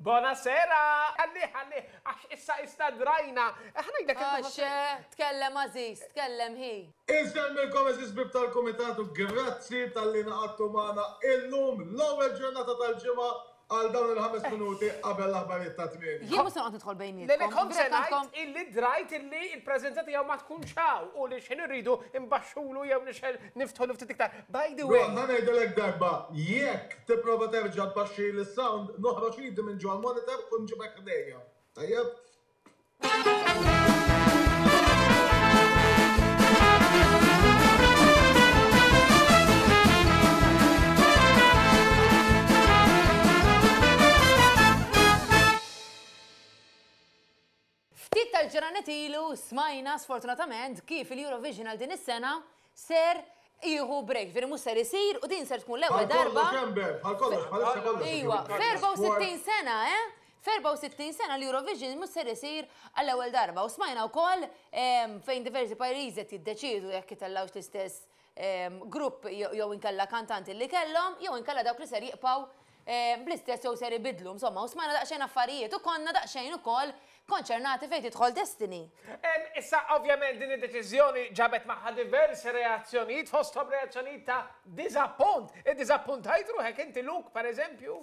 Bonasera! Ħallih, ħallih, għax issa issa drajna. Ħa ngħidlek Għax, tkellem għażiż, tkellem hi. Insellmilkom għeżież ħbieb tal-Kumitat u grazzi talli ngħaqadtu magħna illum l-ewwel ġurnata tal-ġimgħa għal dawn il-ħames minuti qabel l-aħbarijiet tat-tmienja. Jien mhux se noqgħod nidħol bejnietkom. Le le kont se ngħid illi drajt illi l-preżenza tiegħu ma tkunx hawn u li x'ħin irridu nbaxxulu jew nixgħel niftħulu ftit iktar. By the way. Ron, ħa ngħidilek darba, jekk tipprova terġa' tbaxxili s-sound, noħroġ idi minn ġol-monitor u nġibek ħdejja. Tajjeb? Ftit tal-ġranet ilu smajna sfortunatament kif il-Eurovision għal din is-sena ser jieħu break, ġifieri mhux ser isir u din ser tkun l-ewwel darba. Bħal kollox, Amber, bħal kollox, bħalissa kollox. Iwa, f'64 sena, eh? F'64 sena l-Eurovision mhux ser isir għall-ewwel darba u smajna wkoll fejn diversi pajjiżi qed jiddeċiedu jekk itellgħux l-istess grupp jew inkella kantanti li kellhom jew inkella dawk li ser jibqgħu bl-istess jew ser ibiddlu. Insomma, u smajna daqsxejn affarijiet u konna daqsxejn ukoll konċernati fejn tidħol Destiny. Issa ovvjament din id-deċiżjoni ġabet magħha diversi reazzjonijiet fosthom reazzjonijiet ta' diżappunt. Iddiżappuntajt ruħek inti Luke pereżempju?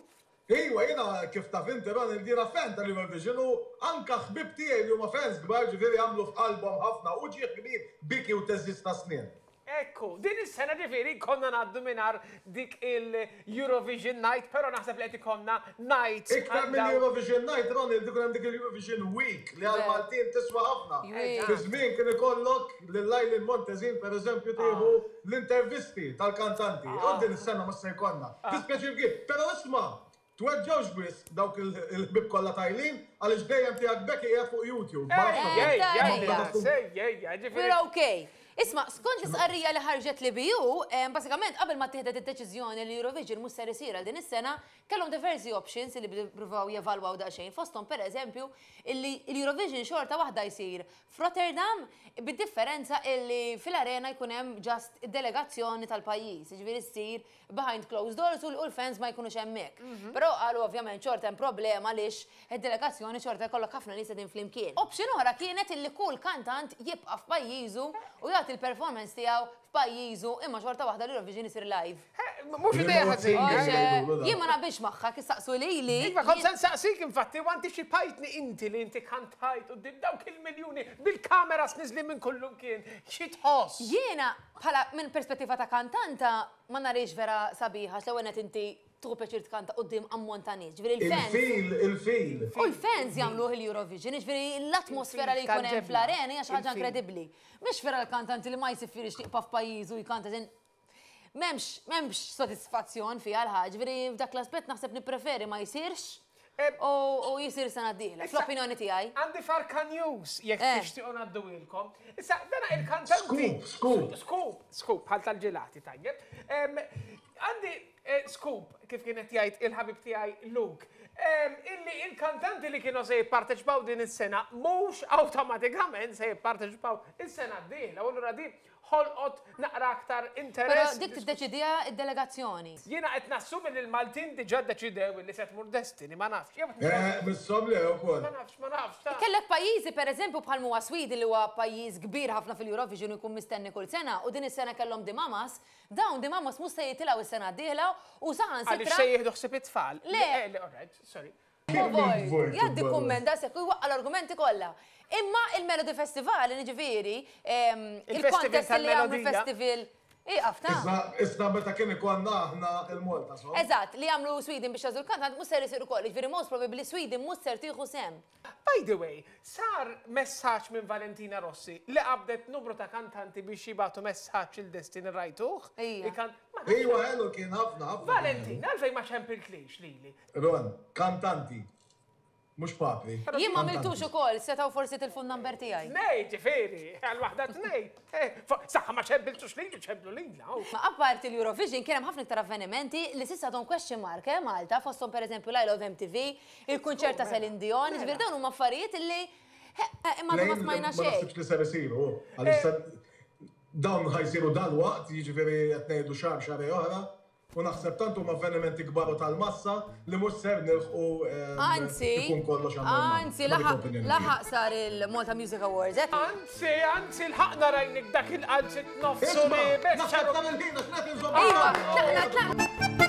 Iwa, jiena kif taf inti Ronald jiena fan tal-Eurovision u anka ħbieb tiegħi li huma fans kbar ġifieri għamlu f'qalbhom ħafna uġigħ kbir, biki u theżżiż ta' snien. Ekku, din is-sena ġifieri konna ngħaddu mingħajr dik il-Eurovision Night, però naħseb li qed ikollna nights. Iktar mill-Eurovision Night, Ronald, ikun hemm dik il-Eurovision Week li għall-Maltin tiswa ħafna. Fi żmien kien ikollok lil Eileen Montesin pereżempju tieħu l-intervisti tal-kantanti. U din is-sena mhux se jkollna. Dispjaċir kbir. Però isma', tweġġgħux wisq dawk il-ħbieb kollha ta' Eileen għaliex dejjem tiegħek Becky qiegħed fuq YouTube. Ma nafx Ejja, We're okay. Isma', skont l-istqarrija li ħarġet l-EBU, basikament qabel ma ttieħdet id-deċiżjoni li Eurovision mhux ser isir għal din is-sena, kellhom diversi options li ppruvaw jevalwaw daqsxejn, fosthom pereżempju illi l-Eurovision xorta waħda jsir f'Rotterdam bid-differenza illi fil-arena jkun hemm just id-delegazzjoni tal-pajjiż, jiġifieri ssir behind closed doors u l-fans ma jkunux hemmhekk. Però qalu ovvjament xorta hemm problema għaliex id-delegazzjoni xorta jkollok ħafna nies qegħdin flimkien. Option oħra kienet illi kull kantant jibqa' f'pajjiżu u jagħti l-performance tiegħu f'pajjiżu imma xorta waħda l-Eurovision isir live. Mhux idea ħażina. Jien ma naqbilx magħha, kif saqsu lili. Iva, kont se nsaqsik infatti, u antiċipajtni inti li inti kantajt quddiem dawk il-miljuni bil-kameras niżlin minn kullimkien. Xi tħoss? Jiena, bħala minn perspettiva ta' kantanta, ma narhiex vera sabiħa għax l-ewwel nett inti tieħu pjaċir tkanta quddiem ammont ta' nies. Ġifieri l-fans. Il-feel, il-feel. U l-fans jagħmluh il-Eurovision, jiġifieri l-atmosfera li jkun hemm fl-arena hija xi ħaġa inkredibbli. Mhix vera l-kantanti li ma jsifirx jibqa' f'pajjiżu jkanta M'hemmx, m'hemmx sodisfazzjon fiha l-ħaġa, ġifieri f'dak l-aspett naħseb nippreferi ma jsirx u jsir sena d-dieħla, fl-opinjoni tiegħi. Għandi Farka News jekk tixtiequ ngħadduhielkom. Issa, dana il-kantanti. Scoop, scoop. Scoop, scoop, bħal tal-ġelati, tajjeb. Għandi scoop, kif kien qed jgħid il-ħabib tiegħi Luke, illi il-kantanti li kienu se jipparteċipaw din is-sena mhux awtomatikament se jipparteċipaw is-sena d-dieħla, u allura din ħolqot naqra aktar interess. Però dik tiddeċidiha d-delegazzjoni. Jiena qed nassumi li l-Maltin diġà ddeċidew illi se tmur Destiny, ma nafx. Eh, misshom le wkoll. Ma nafx, ma nafx. Ta. Kellek pajjiżi pereżempju bħal m'huwa Sweden li huwa pajjiż kbir ħafna fil-Eurovision u jkun mistenni kull sena u din is-sena kellhom The Mamas, dawn The Mamas mhux se jitilgħu s-sena d-dieħla u saħansitra. Għaliex se jieħdu ħsieb it-tfal. Le. Le, all right, sorry. Void, jgħaddi kumment daqshekk u jwaqqa' l-argumenti kollha. Imma il-Melody Festival, jiġifieri, il-contest li jagħmlu festival Ieqaf ta'. Iżda meta kien ikollna aħna il-Malta Song. Eżatt, li jagħmlu Sweden biex jagħżlu l-kantant mhux ser isir ukoll, jiġifieri most probably Sweden mhux ser tieħu sehem. By the way, sar messaġġ minn Valentina Rossi li qabdet numru ta' kantanti biex jibagħtu messaġġ lil Destiny rajtuh? Ija. Iwa ħelu kien ħafna ħafna. Valentina, għalfejn ma ċempiltlix lili? Ron, kantanti. Mhux papri. Jien ma għamiltux ukoll, setgħu forsi tilfu n-number tiegħi. Tnej, ġifieri, għal waħda tnej. Saħħa ma ċempiltux lili, ċemplu lilha. Ma apparti l-Eurovision kien hemm ħafna iktar avvenimenti li s'issa għadhom question mark, eh, Malta, fosthom pereżempju l-I Love MTV, il-kunċert ta' Celine Dion, jiġifieri dawn huma affarijiet li imma għadna ma smajna xejn. Ma naħsibx li ser isiru, għaliex dawn ħa jsiru dalwaqt, jiġifieri qed ngħidu xahar xahrejn oħra. U naħseb tant huma avvenimenti kbar u tal-massa li mhux ser nilħqu Anzi, ikun kollox anormali. anzi, laħaq laħaq sar il-Malta Music Awards, eh? Anzi, anzi, lħaqna rajnik dak il-qalzit nofsu Isma', li naħseb dan il-ħin għax qed inżomm Iva, tlaqna, tlaqna.